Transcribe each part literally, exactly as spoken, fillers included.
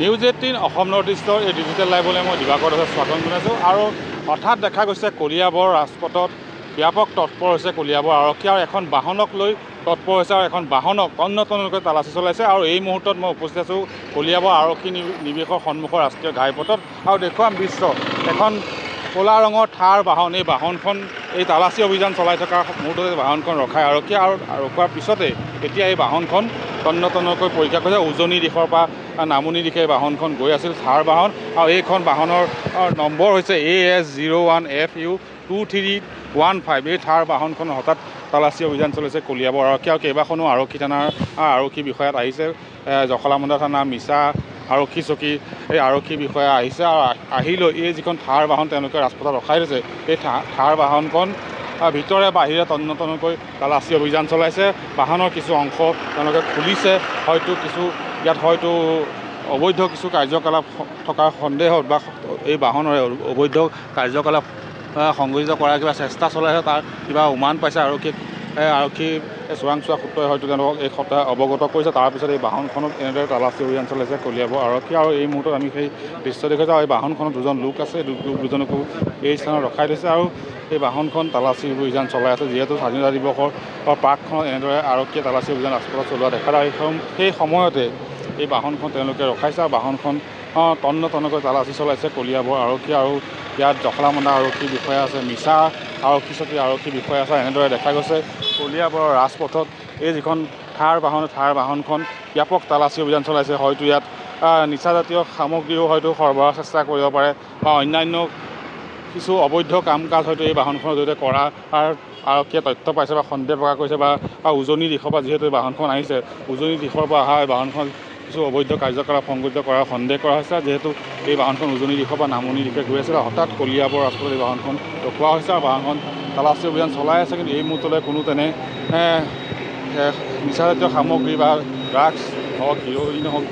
News eighteen Assam north ইষ্টৰ এই digital লাইভলৈ মই দিবাকৰ দাসক স্বাগতম জনাইছোঁ। আৰু হঠাৎ দেখা গৈছে কলিয়াবৰ ৰাজপথত ব্যাপক তৎপৰ হৈছে কলিয়াবৰ আৰক্ষী আৰু এখন বাহনক লৈ তৎপৰ হৈছে আৰু এখন বাহনক তন্ন তন্নকৈ তালাচী চলাইছে। আৰু এই মুহূৰ্তত মই উপস্থিত আছোঁ কলিয়াবৰ আৰক্ষী নিৱেশৰ সন্মুখৰ ৰাষ্ট্ৰীয় ঘাইপথত আৰু দেখুৱাম দৃশ্য এখন ক'লা ৰঙৰ থাৰ বাহন। এই বাহনখন এই তালাচী অভিযান চলাই থকাৰ মুহূৰ্ততে বাহনখন ৰখাই আৰক্ষী আৰু ৰখোৱাৰ পিছতে এতিয়া এই বাহনখন তন্ন তন্নকৈ পৰীক্ষা কৰিছে। উজনি দিশৰ পৰা নামনি দিশে এই বাহনখন গৈ আছিল থাৰ বাহন আৰু এইখন বাহনৰ নম্বৰ হৈছে A S zero one F U two three one five. এই থাৰ বাহনখন হঠাৎ তালাচী অভিযান চলিছে কলিয়াবৰ আৰক্ষী আৰু কেইবাখনো আৰক্ষী থানাৰ আৰক্ষী বিষয়াত আহিছে। জখলাবন্ধা থানা, মিছা আৰক্ষী চকী এই আৰক্ষী বিষয়া আহিছে আৰু আহি লৈ এই যিখন থাৰ বাহন তেওঁলোকে ৰাজপথত ৰখাই থৈছে এই থাৰ বাহনখন ভিতৰে বাহিৰে তন্ন তন্নকৈ তালাচী অভিযান চলাইছে। বাহনৰ কিছু অংশ তেওঁলোকে খুলিছে, হয়তো কিছু ইয়াত হয়তো অবৈধ কিছু কাৰ্যকলাপ থকাৰ সন্দেহত বা এই বাহনৰে অবৈধ কাৰ্যকলাপ সংঘটিত কৰাৰ কিবা চেষ্টা চলাইছে, তাৰ কিবা উমান পাইছে আৰক্ষীক। আৰক্ষী চোৰাংচোৱা সূত্ৰই হয়তো তেওঁলোকক এই কথা অৱগত কৰিছে। তাৰপিছত এই বাহনখনত এনেদৰে তালাচী অভিযান চলাইছে কলিয়াবৰ আৰক্ষী। আৰু এই মুহূৰ্তত আমি সেই দৃশ্য দেখুৱাইছোঁ আৰু এই বাহনখনত দুজন লোক আছে, লোক দুজনকো এই স্থানত ৰখাই থৈছে আৰু এই বাহনখন তালাচী অভিযান চলাই আছে। যিহেতু স্বাধীনতা দিৱসৰ প্ৰাকখনত এনেদৰে আৰক্ষীয়ে তালাচী অভিযান ৰাজপথত চলোৱা দেখা যায়, সেই সময়তে এই বাহনখন তেওঁলোকে ৰখাইছে আৰু বাহনখন তন্ন তন্নকৈ তালাচী চলাইছে কলিয়াবৰ আৰক্ষী। আৰু ইয়াত জখলাবন্ধা আৰক্ষী বিষয়া আছে, মিছা আৰক্ষী চকীৰ আৰক্ষী বিষয়া আছে। এনেদৰে দেখা গৈছে কলিয়াবৰৰ ৰাজপথত এই যিখন থাৰ বাহন, থাৰ বাহনখন ব্যাপক তালাচী অভিযান চলাইছে। হয়তো ইয়াত নিচাজাতীয় সামগ্ৰীও হয়তো সৰবৰাহ চেষ্টা কৰিব পাৰে বা অন্যান্য কিছু অবৈধ কাম কাজ হয়তো এই বাহনখনৰ জৰিয়তে কৰাৰ আৰক্ষীয়ে তথ্য পাইছে বা সন্দেহ প্ৰকাশ কৰিছে। বা উজনি দিশৰ পৰা যিহেতু এই বাহনখন আহিছে, উজনি দিশৰ পৰা অহা এই বাহনখন কিছু অবৈধ কাৰ্যকলাপ সংঘটিত কৰাৰ সন্দেহ কৰা হৈছে। যিহেতু এই বাহনখন উজনি দিশৰ পৰা নামনি দিশে গৈ আছিল, হঠাৎ কলিয়াবৰ ৰাজপথত এই বাহনখন ৰখোৱা হৈছে আৰু বাহনখন তালাচী অভিযান চলাই আছে। কিন্তু এই মুহূৰ্তলৈ কোনো তেনে নিচাজাতীয় সামগ্ৰী বা ড্ৰাগছ হওক, হিৰ'ইন হওক,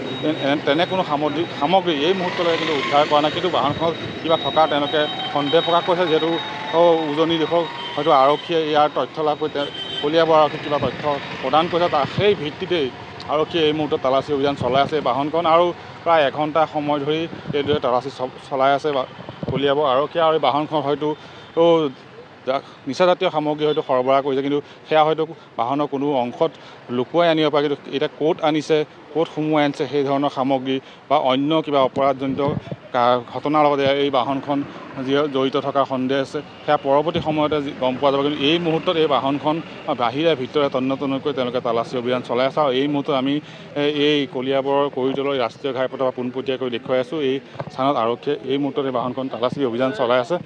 তেনে কোনো সামগ্ৰী সামগ্ৰী এই মুহূৰ্তলৈ কিন্তু উদ্ধাৰ কৰা নাই। কিন্তু বাহনখনত কিবা থকা তেওঁলোকে সন্দেহ প্ৰকাশ কৰিছে। যিহেতু উজনি দিশক হয়তো আৰক্ষীয়ে ইয়াৰ তথ্য লাভ কৰি কলিয়াবৰ আৰক্ষীক কিবা তথ্য প্ৰদান কৰিছে, তাৰ সেই ভিত্তিতেই আৰক্ষীয়ে এই মুহূৰ্তত তালাচী অভিযান চলাই আছে এই বাহনখন। আৰু প্ৰায় এঘণ্টা সময় ধৰি এইদৰে তালাচী চলাই আছে কলিয়াবৰ আৰক্ষীয়ে। আৰু এই বাহনখন হয়তো নিচাজাতীয় সামগ্ৰী হয়তো সৰবৰাহ কৰিছে, কিন্তু সেয়া হয়তো বাহনৰ কোনো অংশত লুকুৱাই আনিব পাৰে, কিন্তু এতিয়া ক'ত আনিছে, ক'ত সুমুৱাই আনিছে সেই ধৰণৰ সামগ্ৰী বা অন্য কিবা অপৰাধজনিত ঘটনাৰ লগত এই বাহনখন যি জড়িত থকাৰ সন্দেহ আছে, সেয়া পৰৱৰ্তী সময়তে গম পোৱা যাব। কিন্তু এই মুহূৰ্তত এই বাহনখন বাহিৰে ভিতৰে তন্ন তন্নকৈ তেওঁলোকে তালাচী অভিযান চলাই আছে। আৰু এই মুহূৰ্তত আমি এই কলিয়াবৰৰ কৰিতলৰ ৰাষ্ট্ৰীয় ঘাইপথৰ পৰা পোনপটীয়াকৈ দেখুৱাই আছোঁ এই স্থানত আৰক্ষীয়ে এই মুহূৰ্তত এই বাহনখন তালাচী অভিযান চলাই আছে।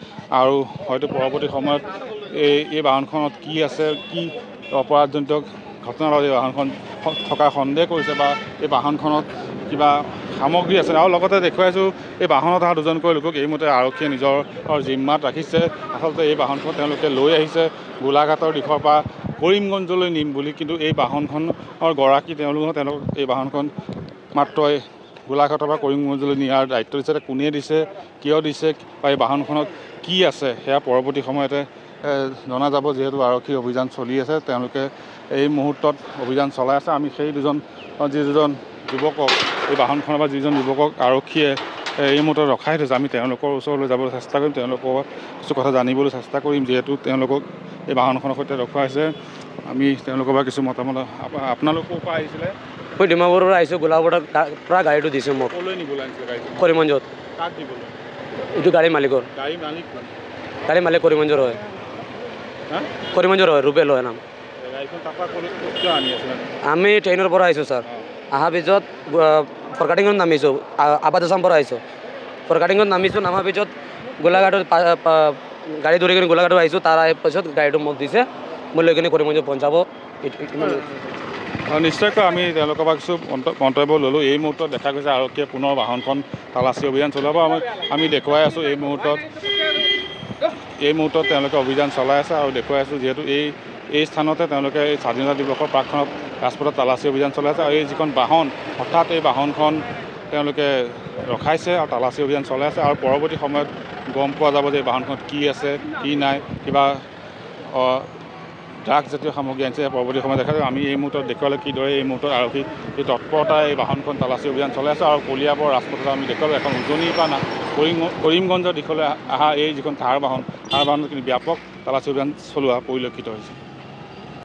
আৰু হয়তো পৰৱৰ্তী সময়ত এই এই বাহনখনত কি আছে, কি অপৰাধজনিত ঘটনাৰ লগত এই বাহনখন থকাৰ সন্দেহ কৰিছে বা এই বাহনখনত কিবা সামগ্ৰী আছে। আৰু লগতে দেখুৱাইছোঁ এই বাহনত অহা দুজনকৈ লোকক এই মতে আৰক্ষীয়ে নিজৰ জিম্মাত ৰাখিছে। আচলতে এই বাহনখন তেওঁলোকে লৈ আহিছে গোলাঘাটৰ দিশৰ পৰা কৰিমগঞ্জলৈ নিম বুলি, কিন্তু এই বাহনখনৰ গৰাকী তেওঁলোক তেওঁলোক এই বাহনখন মাত্ৰ গোলাঘাটৰ পৰা কৰিমগঞ্জলৈ নিয়াৰ দায়িত্ব দিছে। কোনে দিছে, কিয় দিছে বা এই বাহনখনত কি আছে সেয়া পৰৱৰ্তী সময়তে জনা যাব। যিহেতু আৰক্ষীৰ অভিযান চলি আছে, তেওঁলোকে এই মুহূৰ্তত অভিযান চলাই আছে। আমি সেই দুজন যি দুজন যুৱকক এই বাহনখনৰ পৰা যিজন যুৱকক আৰক্ষীয়ে এই মুহূৰ্তত ৰখাই থৈছে, আমি তেওঁলোকৰ ওচৰলৈ যাবলৈ চেষ্টা কৰিম, তেওঁলোকৰ কিছু কথা জানিবলৈ চেষ্টা কৰিম। যিহেতু তেওঁলোকক এই বাহনখনৰ সৈতে ৰখোৱা হৈছে, আমি তেওঁলোকৰ পৰা কিছু মতামত। আপোনালোকৰ পৰা আহিছিলে? মই ডিমাপুৰৰ পৰা আহিছোঁ, গোলাঘাটৰ পৰা গাড়ীটো দিছে মোক। ক'লৈ নিবলৈ আনিছিলে গাড়ীটো? কৰিমগঞ্জত। কাক দিবলৈ? এইটো গাড়ীৰ মালিকৰ। গাড়ী মালিক কোন? গাড়ীৰ মালিক কৰিমগঞ্জৰ হয়। কৰিমগঞ্জৰ হয়, ৰুবেল হয় নাম। গাড়ীখন তাৰপৰা ক'লৈ কিয় আনি আছিলে? আমি ট্ৰেইনৰ পৰা আহিছোঁ ছাৰ। অহাৰ পিছত ফৰকাটিঙত নামিছোঁ, আবাদ আছাম পৰা আহিছোঁ। ফৰকাটিঙত নামিছোঁ, নামাৰ পিছত গোলাঘাটত গাড়ী ধৰি কিনে গোলাঘাটত আহিছোঁ। তাৰ পিছত গাড়ীটো মোক দিছে, মই লৈ কিনে কৰিমগঞ্জত পঞ্চাব। নিশ্চয়কৈ আমি তেওঁলোকৰ পৰা কিছু মন্তব্য ল'লোঁ। এই মুহূৰ্তত দেখা গৈছে আৰক্ষীয়ে পুনৰ বাহনখন তালাচী অভিযান চলাব। আমি আমি দেখুৱাই আছোঁ এই মুহূৰ্তত এই মুহূৰ্তত তেওঁলোকে অভিযান চলাই আছে আৰু দেখুৱাই আছোঁ। যিহেতু এই এই স্থানতে তেওঁলোকে এই স্বাধীনতা দিৱসৰ প্ৰাকখনত ৰাজপথত তালাচী অভিযান চলাই আছে। আৰু এই যিখন বাহন, হঠাৎ এই বাহনখন তেওঁলোকে ৰখাইছে আৰু তালাচী অভিযান চলাই আছে। আৰু পৰৱৰ্তী সময়ত গম পোৱা যাব যে এই বাহনখনত কি আছে কি নাই, কিবা ড্ৰাগছ জাতীয় সামগ্ৰী আনিছে পৰৱৰ্তী সময়ত দেখা যাব। আমি এই মুহূৰ্তত দেখুৱালোঁ কিদৰে এই মুহূৰ্তত আৰক্ষী এই তৎপৰতা এই বাহনখন তালাচী অভিযান চলাই আছে। আৰু কলিয়াবৰ ৰাজপথত আমি দেখুৱালোঁ এখন উজনিৰ পৰা কৰিম কৰিমগঞ্জৰ দিশলৈ অহা এই যিখন থাৰ বাহন, থাৰ বাহনত কিন্তু ব্যাপক তালাচী অভিযান চলোৱা পৰিলক্ষিত হৈছে।